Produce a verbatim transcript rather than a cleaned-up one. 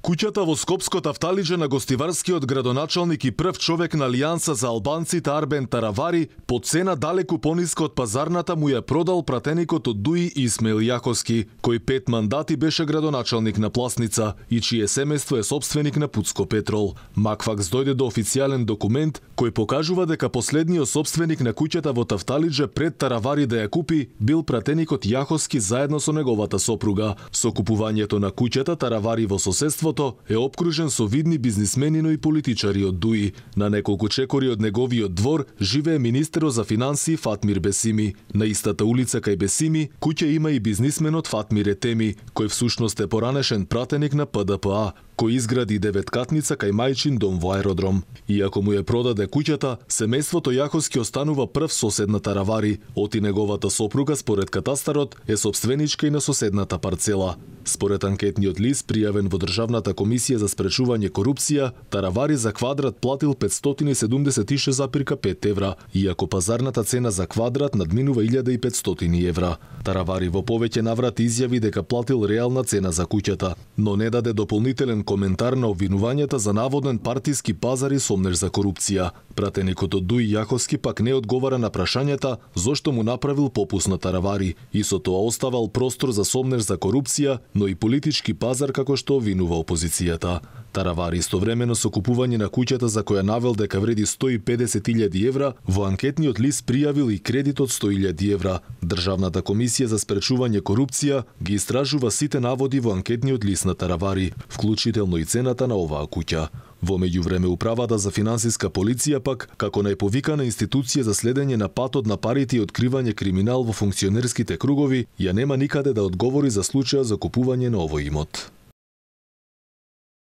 Куќата во Скопско Тафталиџе на гостиварскиот градоначалник и прв човек на Алијанса за албанците Арбен Таравари по цена далеку пониска од пазарната му ја продал пратеникот од ДУИ Исмаил Јаховски, кој пет мандати беше градоначалник на Пласница и чие семејство е сопственик на Пуцко Петрол. Макфакс дојде до официјален документ кој покажува дека последниот сопственик на куќата во Тафталиџе пред Таравари да ја купи бил пратеникот Јаховски заедно со неговата сопруга. Со купувањето на куќата Таравари во соседство е обкружен со видни бизнисмени, но и политичари од ДУИ. На неколку чекори од неговиот двор живее министерот за финансии Фатмир Бесими. На истата улица кај Бесими куќа има и бизнисменот Фатмир Етеми, кој всушност е поранешен пратеник на П Д П А, кој изгради деветкатница кај мајчин дом во аеродром. Иако му ја продаде куќата, семејството Јаховски останува прв сосед на Таравари, оти неговата сопруга според катастарот е сопственичка и на соседната парцела. Според анкетниот лист пријавен во Државната комисија за спречување корупција, Таравари за квадрат платил петстотини и седумдесет и шест зарез пет евра, иако пазарната цена за квадрат надминува илјада и петстотини евра. Таравари во повеќе наврати изјави дека платил реална цена за куќата, но не даде дополнителен коментар на обвинувањата за наводен партиски пазар и сомнеж за корупција. Пратеникот од ДУИ Јаховски пак не одговара на прашањата зошто му направил попуст на Таравари и со тоа оставал простор за сомнеж за корупција, но и политички пазар како што обвинува опозицијата. Таравари истовремено со купување на куќата за која навел дека вреди сто и педесет илјади евра, во анкетниот лист пријавил и кредит од сто илјади евра. Државната комисија за спречување корупција ги истражува сите наводи во анкетниот лист на Таравари, вклучително и цената на оваа куќа. Во меѓувреме управата за финансиска полиција пак, како најповикана институција за следење на патот на парите и откривање криминал во функционерските кругови, ја нема никаде да одговори за случајот за купување на овој имот.